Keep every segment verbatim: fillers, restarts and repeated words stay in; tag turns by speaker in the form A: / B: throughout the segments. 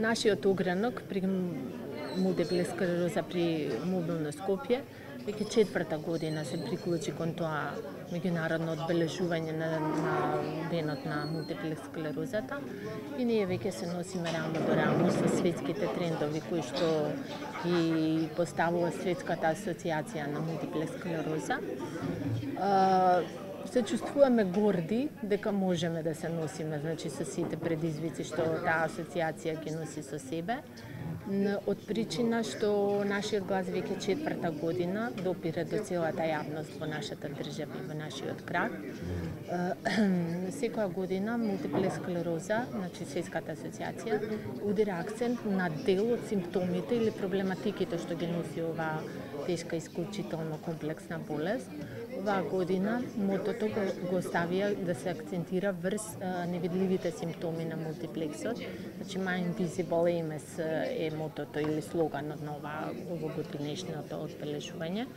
A: Нашиот огранок при мултипла склероза при мобилно Скопје веќе четврта година се приклучи кон тоа меѓународно одбележување на, на денот на мултипла склерозата и ние веќе се носиме рамо до рамо со светските трендови кои што ги поставува Светската асоциација на мултипла склероза. Се чувствуваме горди дека можеме да се носиме, значи со сите предизвици што таа асоциација ги носи со себе. Од причина што нашиот глас веќе четврта година допира до целата јавност во нашата држава и во нашиот град. Секоја година мултипла склероза, значи Светската асоциација, удира акцент на дел од симптомите или проблематиките што ги носи оваа тешка исклучително комплексна болест. Оваа година мотото го, го ставија да се акцентира врз а, невидливите симптоми на мултиплексот. Значи My Invisible Ames е мотото или слоганот на оваа овогодинешното одбележување.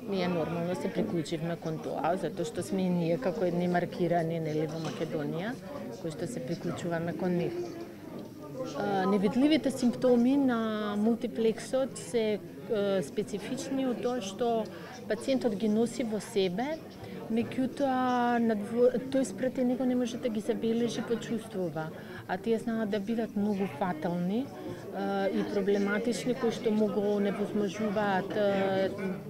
A: Ние нормално се приклучивме кон тоа, затоа што сме и ние како едни маркирани нели во Македонија, кои што се приклучуваме кон нив. Невидливите симптоми на мултиплексот се специфични од тоа што пациентот ги носи во себе, меѓутоа тој спрети него не може да ги забележи, почувствува, а тие знаат да бидат многу фатални и проблематични, кои што могу невозможуваат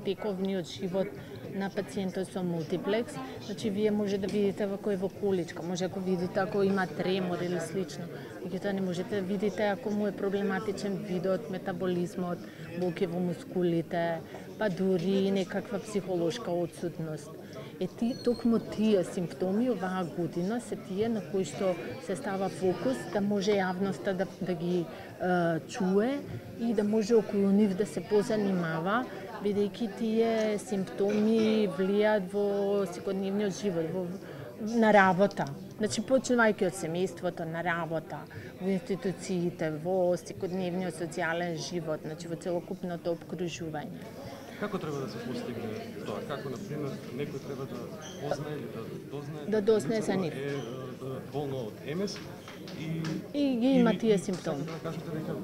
A: тековниот живот на пациентот со мултиплекс. Значи, вие може да видите во кој во количка, може ако видите ако има тремор или слично, меѓутоа не можете да видите ако му е проблематичен видот, метаболизмот, болки во мускулите, па дури некаква психолошка отсутност. Е ти, токму тие симптоми оваа година се тие на кои што се става фокус да може јавноста да, да ги е, чуе и да може околу нив да се позанимава, бидејќи тие симптоми влијаат во секојдневниот живот, во, на работа. Значи, почнувајќи од семејството, на работа, во институциите, во секојдневниот социјален живот, значи во целокупното обкружување.
B: Како треба да се постигне тоа? Како, например, некој треба да познае или да дознае
A: да дознае за нив
B: е болно од Емес и
A: и ги има тие симптоми.
B: Да кажете дека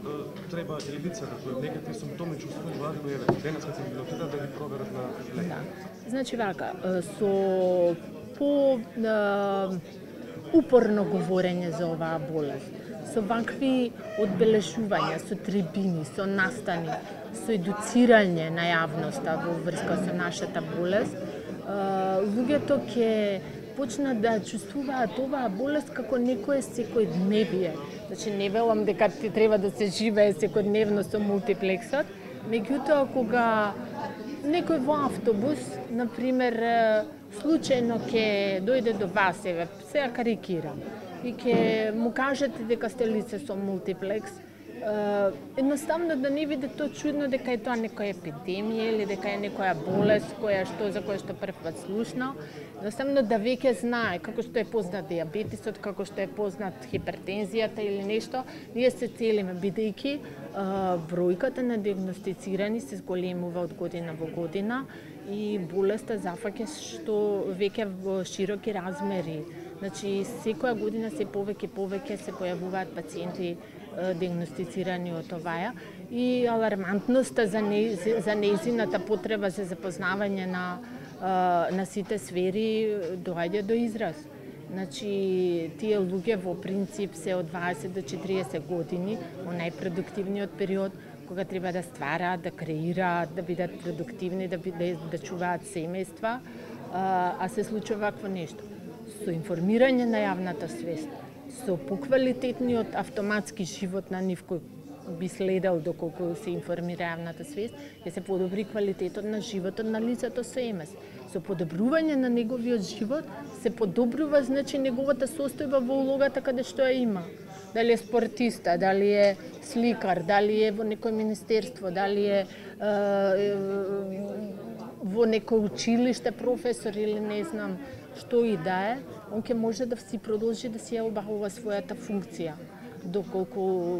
B: треба и лицата кои некакви симптоми чувствуваат, еве денеска ќе ги отидат да ги проверат на лекар.
A: Да. Значи вака, со по упорно говорење за оваа болест, со вакви одбележувања, со трибини, со настани, со едуцирање на јавноста во врска со нашата болест, луѓето ќе почнат да чувствуваат оваа болест како некое секојдневие. Значи, не велам дека ти треба да се живее секојдневно со мултиплексот, меѓутоа кога некој во автобус, например, случајно ќе дојде до вас, еве, сега карикирам, и ќе му кажете дека сте лице со мултиплекс, едноставно да не биде тоа чудно дека е тоа некоја епидемија или дека е некоја болест која што за која што прв пат слушнал, едноставно да веќе знае како што е познат дијабетисот, како што е познат хипертензијата или нешто, ние се целиме бидејќи бројката на диагностицирани се зголемува од година во година и болеста зафаќа што веќе во широки размери. Значи, секоја година се повеќе повеќе се појавуваат пациенти диагностицирани од оваа и алармантноста за, не, за нејзината потреба за запознавање на, на сите сфери доаѓа до израз. Значи, тие луѓе во принцип се од дваесет до четириесет години, во најпродуктивниот период, кога треба да ствараат, да креираат, да бидат продуктивни, да, да, да чуваат семејства, а се случува вакво нешто. Со информирање на јавната свест, со поквалитетниот автоматски живот на нив кој би следел доколку се информира јавната свест, ќе се подобри квалитетот на животот на лицето со Емес. Со подобрување на неговиот живот се подобрува, значи, неговата состојба во улогата каде што ја има. Дали е спортиста, дали е сликар, дали е во некој министерство, дали е, е, е во некој училиште професор или не знам што и да е, он ќе може да си продолжи да си ја обавува својата функција. Доколку,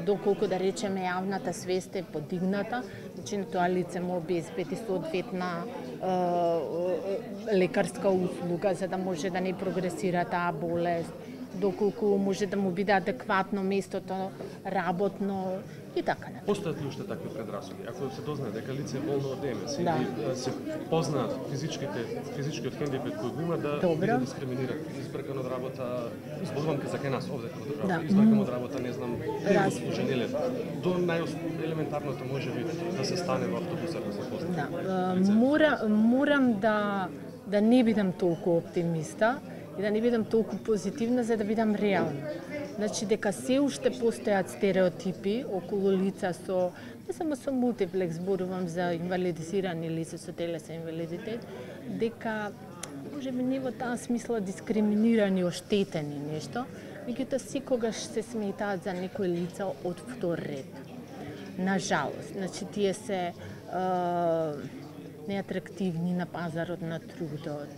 A: доколку да речеме јавната свест е подигната, значи на тоа лице му обезбеди соодветна е, лекарска услуга за да може да не прогресира таа болест, доколку може да му биде адекватно местото, работно и така натаму.
B: Постојат ли уште такви предрасуди? Ако се дознае дека лице е болно од М С
A: Да.
B: или се познаат физичките физичкиот хендикеп кој го има да
A: Добро.
B: биде дискриминиран, избркан од работа, зборувам за кај нас овде како држава,
A: Да.
B: избркан од работа, не знам,
A: Раз.
B: служен или до најелементарното можеби да се стане во автобусот да се познае.
A: Да, е, мора, морам да да не бидам толку оптимиста и да не бидам толку позитивна за да бидам реална. Значи дека се уште постојат стереотипи околу лица со не само со мултиплекс, зборувам за инвалидизирани лица со телесен инвалидитет, дека можеби не во таа смисла дискриминирани, оштетени нешто, меѓутоа секогаш се сметаат за некои лица од втор ред. На жалост, значи тие се е, неатрактивни на пазарот на трудот,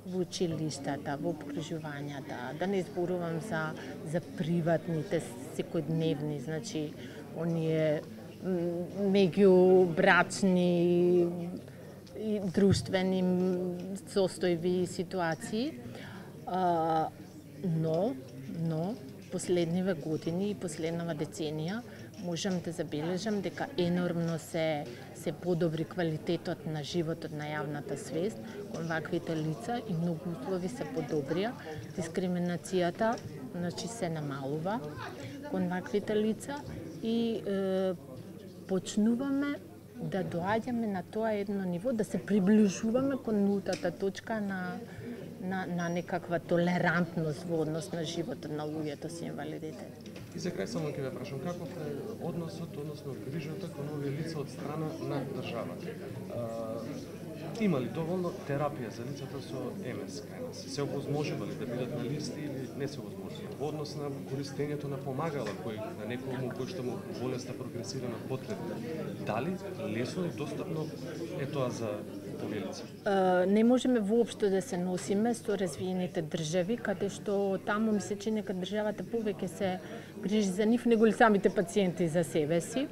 A: во училиштата, во обкружувањата, да не зборувам за за приватните секојдневни, значи оние меѓубрачни и друштвени состојби и ситуации. А, но, но последниве години и последнава деценија можам да забележам дека енормно се се подобри квалитетот на животот на јавната свест кон ваквите лица и многу услови се подобрија. Дискриминацијата, значи, се намалува кон ваквите лица и е, почнуваме да доаѓаме на тоа едно ниво, да се приближуваме кон нултата точка на на на некаква толерантност во однос на животот на луѓето со инвалидитет.
B: И за крај само ќе ве прашам каков е односот, односно грижата кон овие лица од страна на државата. Има ли доволно терапија за лицата со М С кај нас? Се овозможува ли да бидат на листи или не се овозможува? Во однос на користењето на помагала кој на некому кој што му болеста прогресира на потребна. Дали лесно и достапно е тоа за овие лица?
A: Не можеме воопшто да се носиме со развиените држави, каде што таму ми се чини дека државата повеќе се грижи за нив него ли самите пациенти за себе си.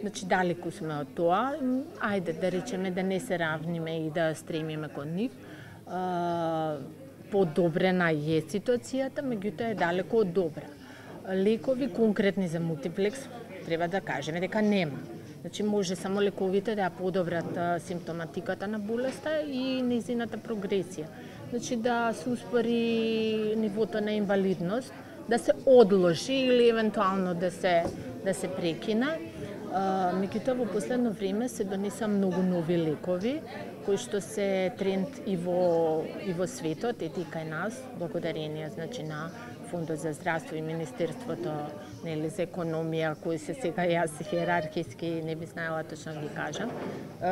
A: Значи, далеку сме од тоа. Ајде да речеме да не се равниме и да стремиме кон нив. Подобрена е ситуацијата, меѓутоа е далеку од добра. Лекови конкретни за мултиплекс треба да кажеме дека нема. Значи, може само лековите да ја подобрат симптоматиката на болеста и незината прогресија. Значи, да се успори нивото на инвалидност, да се одложи или евентуално да се да се прекине. Меѓутоа во последно време се донеса многу нови лекови кои што се тренд и во и во светот, и кај нас, благодарение значи на Фондот за здравство и Министерството нели за економија, кои се сега јас хиерархиски не би знаела точно да ги кажам,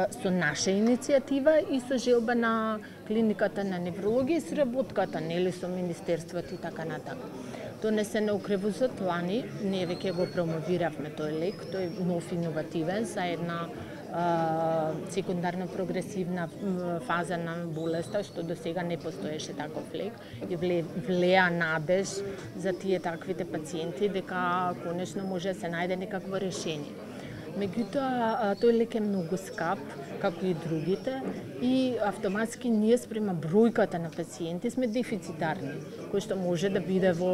A: со наша иницијатива и со желба на клиниката на неврологија и сработката нели со Министерството и така натаму. Донесен у кревозот лани, ние веќе го промовиравме тој лек, тој е нов иновативен за една а, секундарно прогресивна фаза на болеста, што до сега не постоеше таков лек и вле, влеа надеж за тие таквите пациенти дека конечно може да се најде некакво решение. Меѓутоа, тој лек е многу скап, како и другите, и автоматски ние спрема бројката на пациенти сме дефицитарни, кој што може да биде во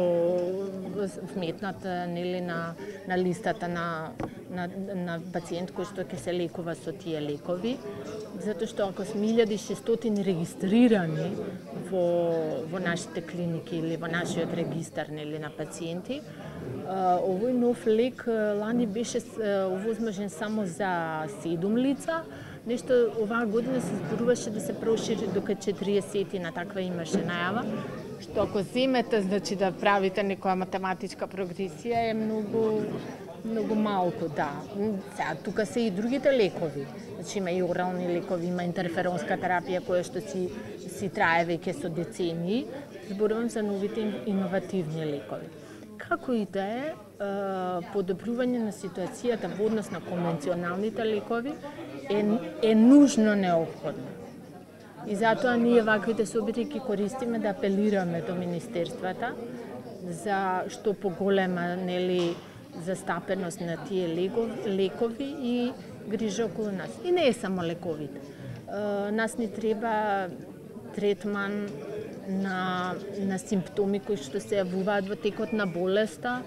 A: вметнат нели на на листата на на на пациент кој што ќе се лекува со тие лекови, затоа што ако сме илјада и шестстотини регистрирани во во нашите клиники или во нашиот регистар нели на пациенти, овој нов лек лани беше овозможен само за седум лица. Нешто оваа година се зборуваше да се прошири до четириесет на таква имаше најава, што ако земете значи да правите некоја математичка прогресија е многу многу малку, да. Сега тука се и другите лекови. Значи има и орални лекови, има интерферонска терапија која што си си трае веќе со децении. Зборувам за новите иновативни лекови. Како и да е, подобрување на ситуацијата во однос на конвенционалните лекови е, е нужно неопходно. И затоа ние ваквите собити ги користиме да апелираме до министерствата за што поголема нели застапеност на тие лекови и грижа околу нас. И не е само лековите. Нас ни треба третман на, на симптоми кои што се јавуваат во текот на болеста.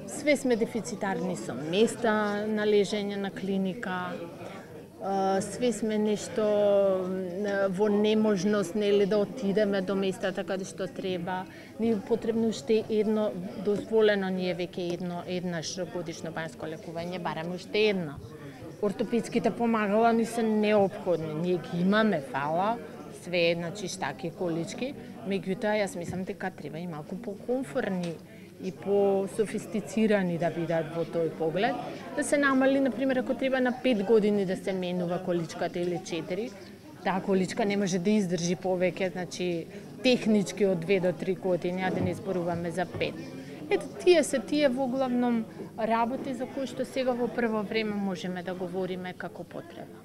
A: Све сме дефицитарни со места на лежење на клиника, све сме нешто во неможност, нели, да отидеме до местата каде што треба. Ни е потребно уште едно, дозволено ни е веќе едно, еднаш годишно бањско лекување, бараме уште едно. Ортопедските помагала ни се неопходни, ние ги имаме, фала, све, значи штаки, колички, меѓутоа јас мислам дека треба и малку покомфорни и по-софистицирани да бидат во тој поглед, да се намали, например, ако треба на пет години да се менува количката или четири, таа количка не може да издржи повеќе, значи технички од две до три години, а да не зборуваме за пет. Ето, тие се тие во главном работи за кои што сега во прво време можеме да говориме како потреба.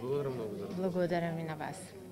B: Благодарам многу за разговор.
A: Благодарам и на вас.